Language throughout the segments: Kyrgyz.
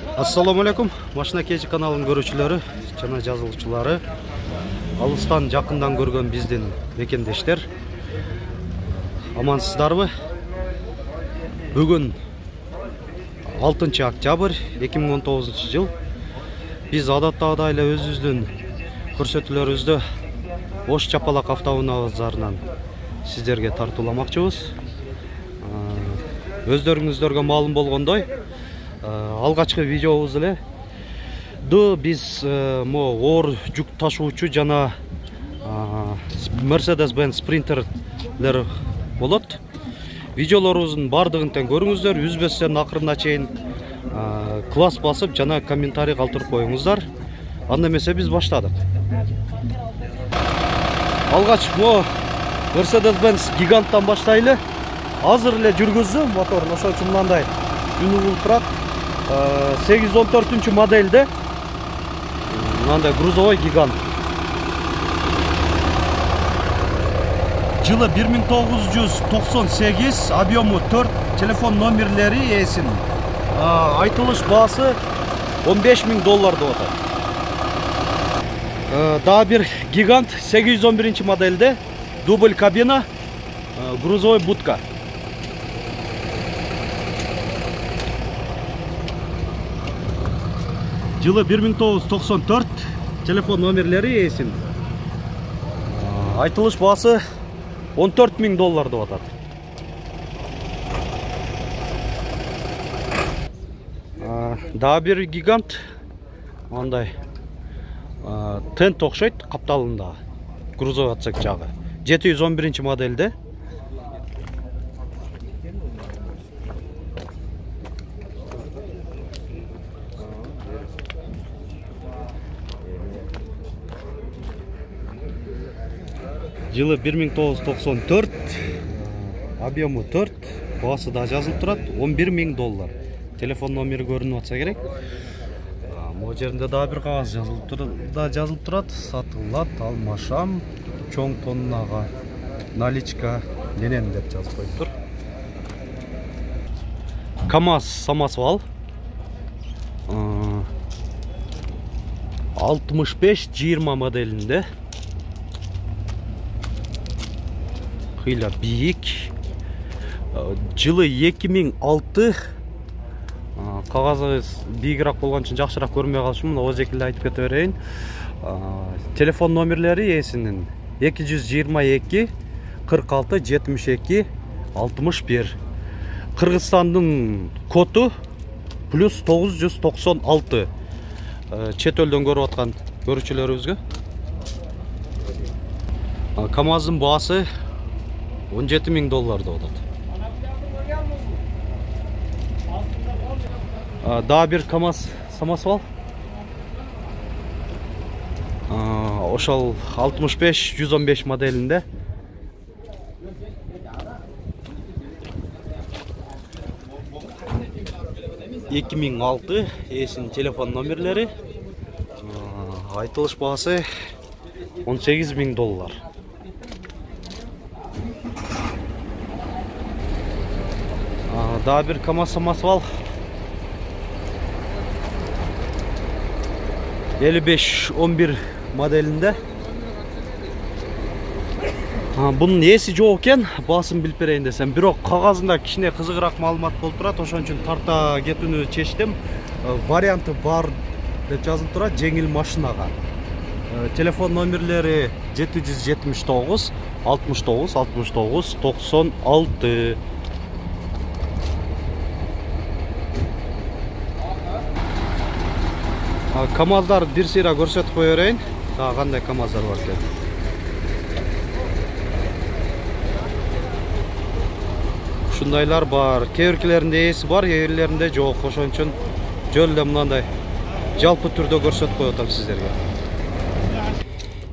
Assalamu alaikum. Машина кежи каналынын көрүүчүлөрү жана жазылуучулары, алыстан жакындан көргөн биздин мекендештер, амансыздарбы? Бүгүн 6 октябрь 2019 жыл. Биз адаттагыдай эле өзүбүздүн көрсөтүүлөрүбүздү Ош Чапалак автоунаазарынан сиздерге тартууламакчыбыз. Өздөрүңүздөргө маалым болгондой, алгачкы видеобуз эле биз оор жүк ташуучу жана Mercedes-Benz спринтерлер болот. Видеолорубуздун бардыгын тең көрүңүздөр, үзбөстөн акырына чейин класс басып жана комментарий калтырып коюңуздар. Анда эмесе биз баштадык. Алгач Mercedes-Benz гиганттан баштайлы. Азыр эле жүргүздү мотор, ошол үчүн мындай үнү болуп турат. 814 модельде мындай грузовой гигант. Жылы 1998, объему 4, телефон номерлери эсин. Айтылыш баасы $15.000 деп атат. Дагы бир гигант 811 модельде, дубль кабина, грузовой будка. Жылы 1994, телефон номерлери эсин. Айтылыш баасы $14.000 деп атат. Дагы бир гигант, мындай тент окшойт капталында, грузовой отсек жагы. 711 модельде. Жылы 1994, объему 4, баасы да жазылып турат, $11.000. Телефон номери көрүнүп атса керек. Могу жеринде дагы бир кагаз жазылып турат, сатылат, алмашам, чоң тоннага наличка менен деп жазып коюптур. КамАЗ самосвал 65-20 моделинде. Кыйла бийик. Жылы 2006. Кагазы бийигирээк болгон үчүн жакшыраак көрмөй калышым, ооз экиле айтып кете берейин. Телефон номерлери эсинин 222 46 72 61. Кыргызстандын коду плюс 996. Чет элден көрүп аткан көрүүчүлөрүбүзгө. КамАЗдын баасы $17.000 деп атат. Дагы бир КамАЗ самосвал. Ошол 65-115 моделинде. $2006 эсин телефон номерлери. Айтылыш баасы $18.000. Дагы бир КамАЗ самосвал 55-11 моделинде. Бунун эси жок экен, баасын билип берейин десем, бирок кагазында кичине кызыгыраак маалымат болуп турат, ошон үчүн тарта кетүүнү чечтим. Варианты бар деп жазылып турат, жеңил машинага. Телефон номерлери 779 69 69 96. КамАЗдар бир сыйра көрсөтүп кое берейин. Дагы кандай КамАЗдар бар экен. Ушундайлар бар. Кээ биркилеринде эси бар, кээ бирлеринде жок. Ошон үчүн жөн эле мындай жалпы түрдө көрсөтүп коюп атам сиздерге.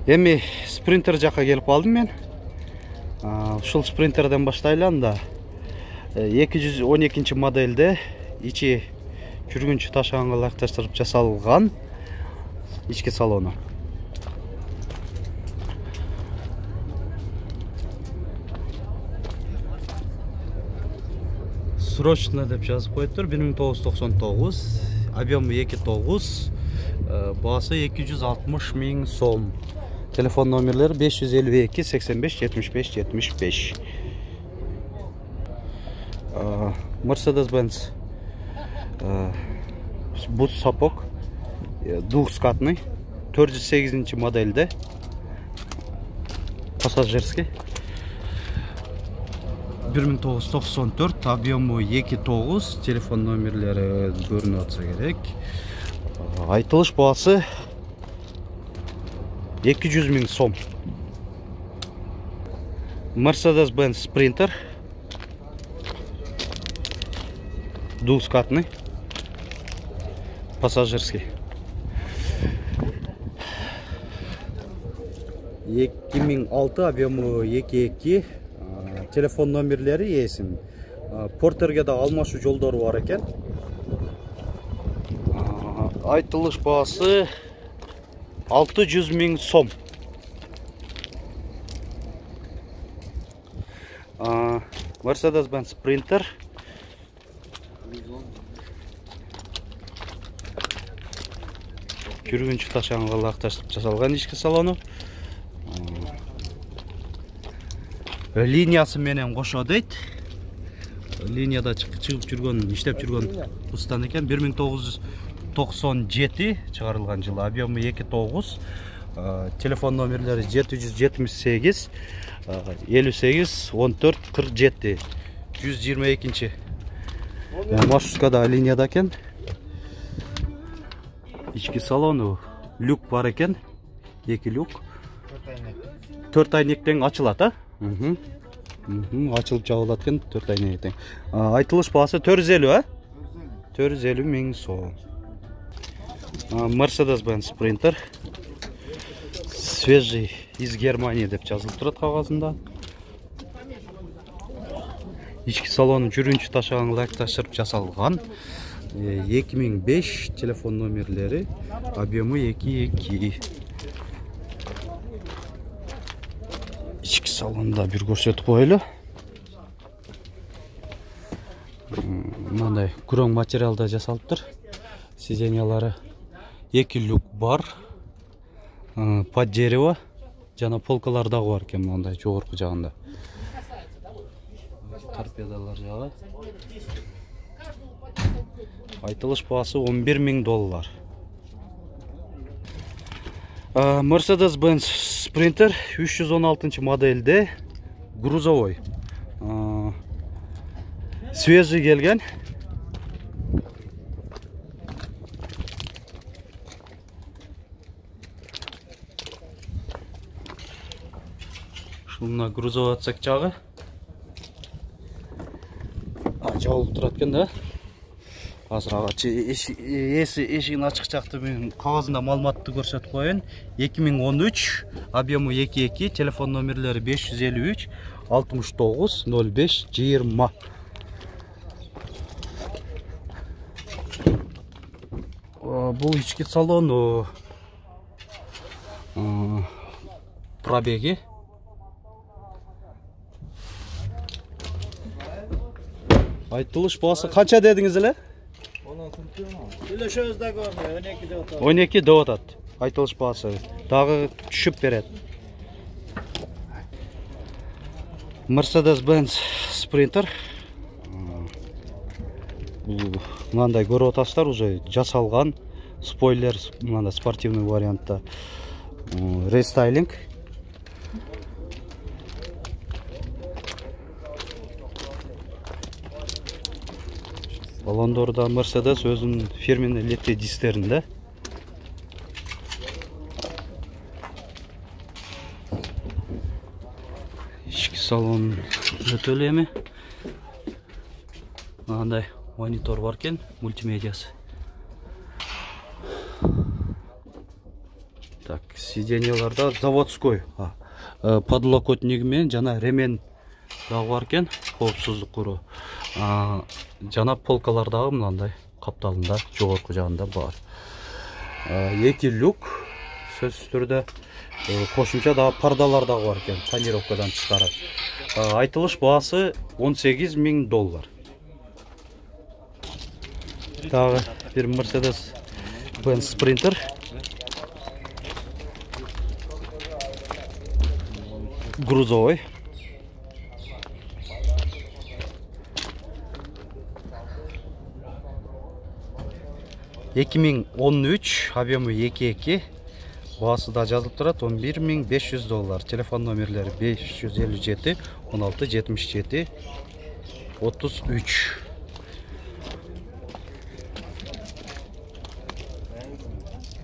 Эми спринтер жакка келип калдым мен. Ушул спринтерден баштайлы анда. 212 модельде, ичи жүргүнчү ташыганга ылайыкташтырып жасалган ички салону. Срочно деп жазып коюптур. 1999 объемы 2.9, баасы 260 000 сом. Телефон номерлери 552 85 75 75. Mercedes-Benz бус сапог двухскатный 408 модельде, пассажирский, 1994, объемы 2.9, телефон номерлери көрүнүп атса керек. Айтылыш баасы 200 000 сом. Mercedes-Benz Sprinter двухскатный, пассажирский, 2006, объемы 2.2, телефон номерлери эсин. Портерге да алмашуу жолдору бар экен. Айтылыш баасы 600 000 сом. Mercedes-Benz Sprinter жүргүнчү ташанга ылакташтырып жасалган ички салону. Линиясы менен кошо дейт. Линияда чыгып жүргөн, иштеп жүргөн устан экен. 1997 чыгарылган жылы, объемы 2.9, телефон номерлери 778 58 14 47, 122. Маршруткада линияда экен. Ички салону люк бар экен, 2 люк. 4 айнектен ачылат, ачылып жабылат экен 4 айнектен. Айтылыш баасы 450, 450 000 сом. Mercedes-Benz Sprinter свежий из Германии деп жазылып турат кагазында. Ички салону жүргүнчү ташаганга ылайыкташтырып жасалган. 2005, телефон номерлери, объемы 2.2. Ички салонда бир көрсөтүп коелу. Мындай күрөң материалда жасалыптыр. Сиденьялары 2 люк бар, под дерево, жана полкалар дагы бар экен мындай жогорку жагында. Торпедалар жагы. Айтылыш баасы 11 000 доллар. Mercedes-Benz Sprinter 316 модельде, грузовой. Свежий келген. Шунна грузовой отсек жагы. Жабылып турат экен да. Азыр эшигин ачык жакты мен кагазында маалыматты көрсөтүп коеюн. 2013, объемы 2.2, телефон номерлери 553 69 05 20. Бул ички салону пробеги айтылыш баасы канча дедиңиз эле? 12 деп атат. Айтылыш баасы дагы түшүп берет. Mercedes-Benz Sprinter. Мындай көрүп атасыздар, уже жасалган спойлер, мындай спортивный вариантта. Рестайлинг. Балондорда Mercedes өзүнүн фирменный летти дистеринде. Ички салон өтө эле эми. Мындай монитор бар экен, мультимедиасы. Так, сиденьяларда заводской подлокотниги менен жана ремень дагы бар экен, коопсуздук куру. Жана полкалар дагы мындай капталында жогорку жагында бар. 2 люк, сөзсүз түрдө кошумча дагы пардалар дагы бар экен, тонировкадан тышкары. Айтылыш баасы 18 000 доллар. Дагы бир Mercedes Benz Sprinter. Грузовой. $2013, объемы 2.2, баасы да жазылып турат, $11.500. Телефон номерлери 557 16 77 33.